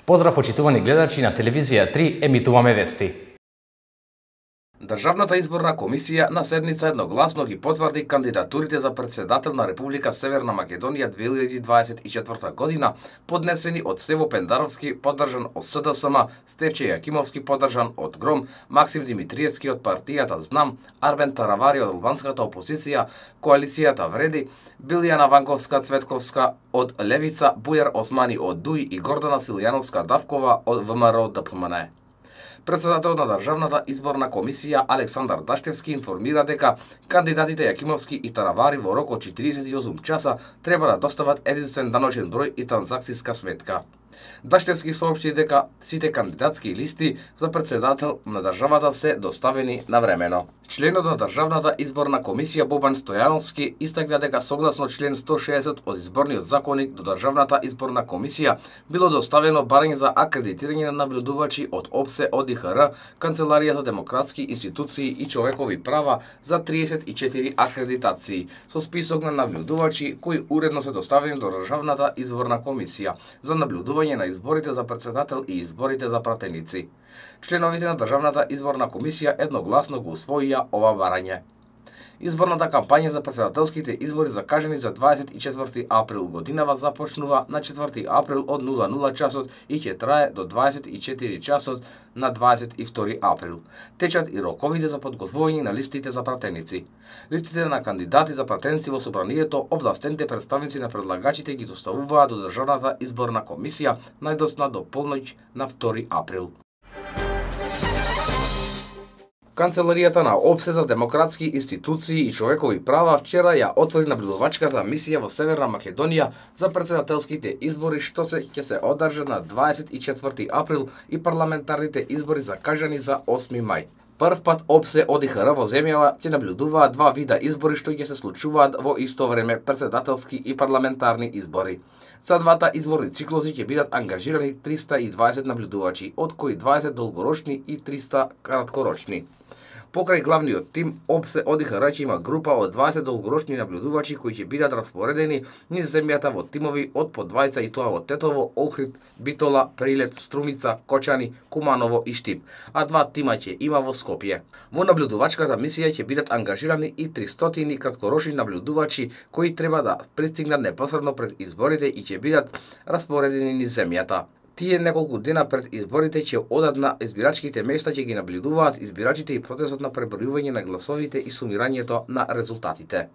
Поздрав почитувани гледачи на телевизија 3, емитуваме вести. Државната изборна комисија на седница едногласно ги потврди кандидатурите за председател на Република Северна Македонија 2024 година, поднесени од Стево Пендаровски, поддржан од СДСМ, Стефче Јакимовски, поддржан од ГРОМ, Максим Димитриевски од партијата ЗНАМ, Арбен Таравари од албанската опозиција, коалицијата Вреди, Билјана Ванковска Цветковска од Левица, Бујар Османи од ДУИ и Гордана Силјановска Давкова од ВМРО ДПМН. Председателот на Државната изборна комисија Александар Даштевски информира дека кандидатите Јакимовски и Таравари во рок од 48 часа треба да достават единствен даночен број и транзакцијска сметка. Даштевски соопшти дека сите кандидатски листи за председател на државата се доставени навремено. Членот на Државната изборна комисија Бобан Стојановски истакна дека согласно член 160 од изборниот законник до Државната изборна комисија било доставено барање за акредитирање на наблюдувачи од ОПСЕ, ОДИХР, Канцеларија за демократски институции и човекови права за 34 акредитации со список на наблюдувачи кои уредно се доставени до Државната изборна комисија за наблюдување на изборите за председател и изборите за пратеници. Членовите на Државната изборна комисија едногласно го усвоија ова барање. Изборната кампања за председателските избори закажани за 24 април годинава започнува на 4 април од 00 часот и ќе трае до 24 часот на 22 април. Течат и роковите за подготвување на листите за пратеници. Листите на кандидати за пратеници во собранието овластените представници на предлагачите ги доставуваат до Државната изборна комисија најдосна до полноќ на 2 април. Канцеларијата на ОПСЕ за демократски институции и човекови права вчера ја отвори наблюдувачката мисија во Северна Македонија за председателските избори што ќе се одржат на 24 април и парламентарните избори закажани за 8 мај. Прв пат ОПСЕ ОДИХР во земјава ќе наблюдуваат два вида избори што ќе се случуваат во исто време, председателски и парламентарни избори. За двата изборни циклуси ќе бидат ангажирани 320 наблюдувачи, од кои 20 долгорочни и 300 краткорочни. Покрај главниот тим, ОПСЕ ОДИХР ќе има група од 20 долгорочни наблюдувачи кои ќе бидат распоредени низ земјата во тимови од по двајца и тоа во Тетово, Охрид, Битола, Прилеп, Струмица, Кочани, Куманово и Штип, а два тима ќе има во Скопје. Во наблюдувачката мисија ќе бидат ангажирани и 300 краткорочни наблюдувачи кои треба да пристигнат непосредно пред изборите и ќе бидат распоредени низ земјата. Тие неколку дена пред изборите ќе одат на избирачките места, ќе ги наблюдуваат избирачите и процесот на пребројување на гласовите и сумирањето на резултатите.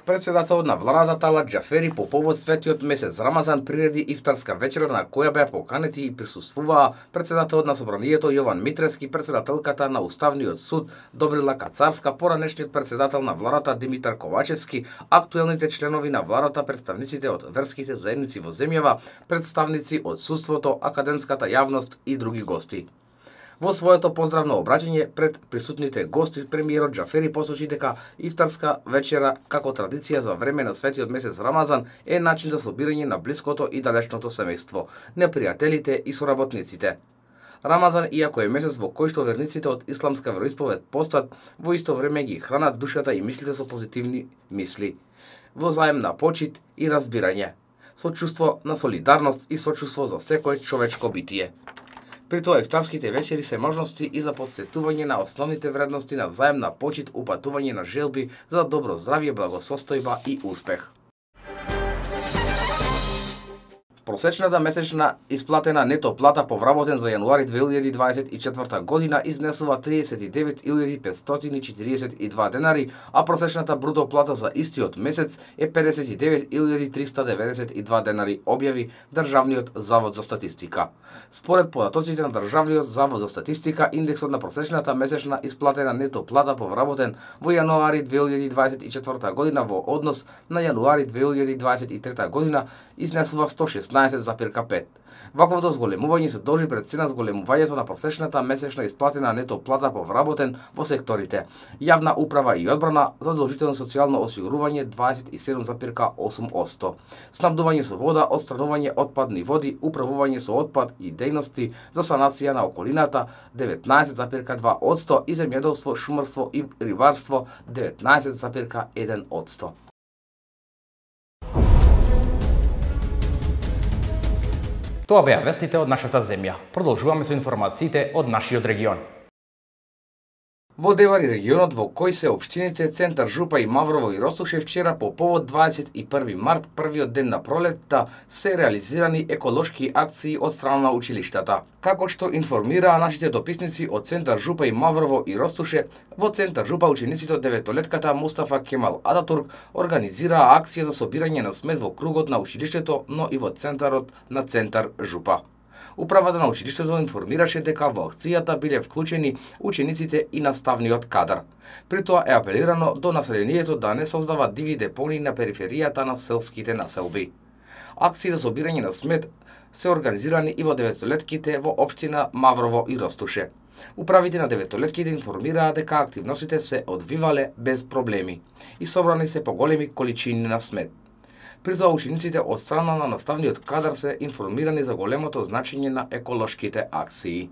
Председателот на владата Талат Џафери по повод светиот месец Рамазан приреди ифтарска вечера на која беа поканети и присуствуваа председателот на собранието Јован Митрески, председателката на Уставниот суд Добрила Кацарска, поранешниот председател на владата Димитар Ковачевски, актуелните членови на владата, представниците од верските заедници во земјава, представници од судството, академската јавност и други гости. Во своето поздравно обраќање пред присутните гости, премиерот Џафери посочи дека ифтарска вечера како традиција за време на светиот месец Рамазан е начин за собирање на блиското и далечното семејство, непријателите и соработниците. Рамазан, иако е месец во кој што верниците од исламска вероисповед постат, во исто време ги хранат душата и мислите со позитивни мисли, во заемна почит и разбирање, со чувство на солидарност и сочувство за секој човечко битие. При тоа ифтарските вечери се можности и за подсетување на основните вредности на взаемна почит, упатување на желби за добро здравје, благосостојба и успех. Просечната месечна исплатена нето плата по вработен за јануари 2024 година изнесува 39.542 денари, а просечната бруто плата за истиот месец е 59.392 денари, објави Државниот завод за статистика. Според податоците на Државниот завод за статистика, индексот на просечната месечна исплатена нето плата по вработен во јануари 2024 година во однос на јануари 2023 година изнесува 116,5. Ваковото зголемување се должи пред се на зголемувањето на просечната месечна исплатена нето плата по вработен во секторите јавна управа и одбрана, задолжително социјално осигурување 27,8%, снабдување со вода, отстранување отпадни води, управување со отпад и дејности за санација на околината 19,2% и земјоделство, шумарство и рибарство 19,1%. Тоа беа вестите од нашата земја. Продолжуваме со информациите од нашиот регион. Во Дебар и регионот во кој се општините Центар Жупа и Маврово и Ростуше вчера по повод 21 март, првиот ден на пролетта, се реализирани еколошки акции од страна на училиштата. Како што информираа нашите дописници од Центар Жупа и Маврово и Ростуше, во Центар Жупа учениците од деветолетката Мустафа Кемал Ататурк организираа акција за собирање на смет во кругот на училиштето, но и во центарот на Центар Жупа. Управата на училиштето информираше дека во акцијата биле вклучени учениците и наставниот кадар. При тоа е апелирано до населението да не создава диви депонии на периферијата на селските населби. Акции за собирање на смет се организирани и во деветолетките во општина Маврово и Ростуше. Управите на деветолетките информираа дека активностите се одвивале без проблеми и собрани се поголеми количини на смет. При тоа учениците од страна на наставниот кадар се информирани за големото значење на еколошките акции.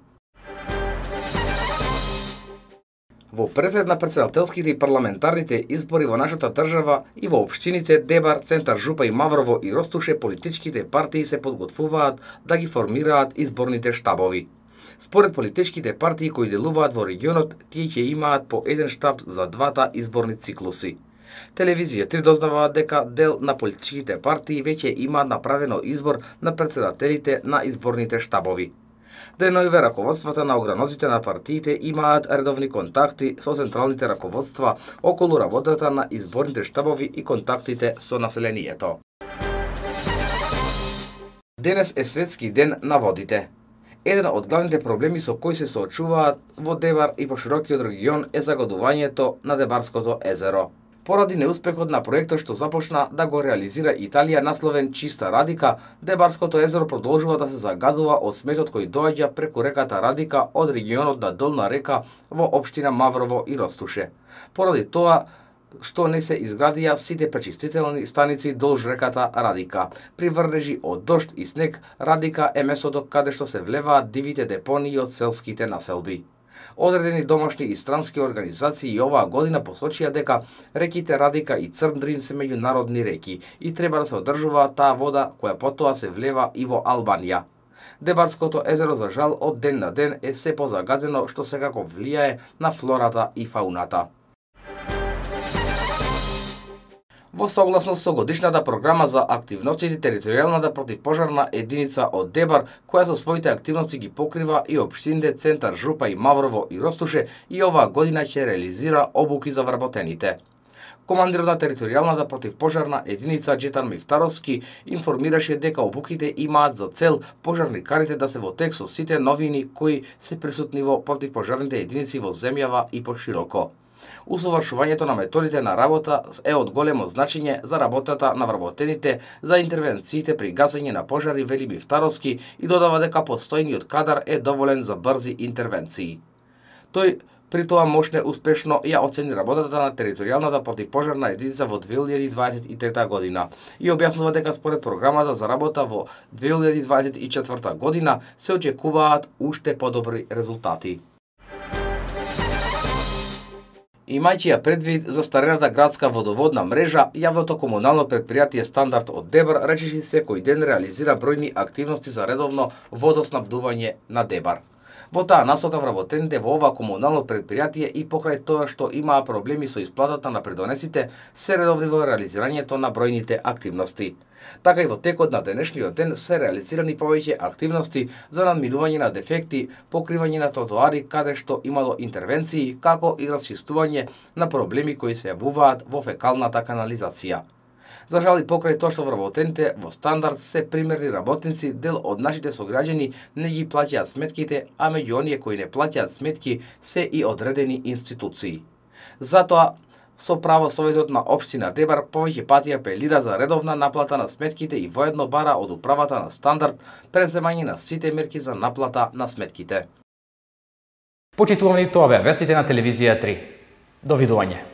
Во пресед на претседателските и парламентарните избори во нашата држава и во општините Дебар, Центар Жупа и Маврово и Ростуше политичките партии се подготвуваат да ги формираат изборните штабови. Според политичките партии кои делуваат во регионот, тие ќе имаат по еден штаб за двата изборни циклуси. Телевизија 3 дознава дека дел на политичките партии веќе имаат направено избор на претседателите на изборните штабови. Деноиве раководствата на огранозите на партиите имаат редовни контакти со централните раководства околу работата на изборните штабови и контактите со населението. Денес е светски ден на водите. Еден од главните проблеми со кои се соочуваат во Дебар и по широкиот регион е загадувањето на Дебарското езеро. Поради неуспехот на проектот што започна да го реализира Италија насловен Чиста Радика, Дебарското езеро продолжува да се загадува од сметот кој доаѓа преку реката Радика од регионот на Долна река во општина Маврово и Ростуше. Поради тоа што не се изградија сите пречистителни станици долж реката Радика. При врнежи од дожд и снег, Радика е местото каде што се влеваат дивите депонии од селските населби. Одредени домашни и странски организации и оваа година посочија дека реките Радика и Црн Дрим се меѓународни реки и треба да се одржува таа вода која потоа се влева и во Албанија. Дебарското езеро за жал од ден на ден е се позагадено што секако влијае на флората и фауната. Во согласност со годишната програма за активностите, територијалната противпожарна единица од Дебар, која со своите активности ги покрива и општините Центар Жупа и Маврово и Ростуше, и оваа година ќе реализира обуки за вработените. Командирот на територијалната противпожарна единица Джетан Мифтаровски информираше дека обуките имаат за цел пожарникарите да се во тек со сите новини кои се присутни во противпожарните единици во земјава и пошироко. Усовршувањето на методите на работа е од големо значење за работата на вработените за интервенциите при гасење на пожари, вели Мифтаровски, и додава дека постојниот кадар е доволен за брзи интервенции. Тој при тоа мощно успешно ја оцени работата на територијалната противпожарна единица во 2023 година и објаснува дека според програмата за работа во 2024 година се очекуваат уште подобри резултати. Имајќи ја предвид за старената градска водоводна мрежа, јавното комунално претпријатие Стандард од Дебар речиси секој ден реализира бројни активности за редовно водоснабдување на Дебар. Во таа насока вработените во ова комунално претпријатие и покрај тоа што имаа проблеми со исплатата на придонесите, се редовни во реализирањето на бројните активности. Така и во текот на денешниот ден се реализирани повеќе активности за надминување на дефекти, покривање на тротоари каде што имало интервенции, како и расчистување на проблеми кои се јавуваат во фекалната канализација. За жал и покрај тоа што вработените во Стандард се примерни работници, дел од нашите сограѓани не ги плаќаат сметките, а меѓу оние кои не плаќаат сметки се и одредени институции. Затоа со право Советот на општина Дебар повеќе пати апелира за редовна наплата на сметките и воедно бара од управата на Стандард преземање на сите мерки за наплата на сметките. Почитувани, тоа беа вестите на телевизија 3. Довидување.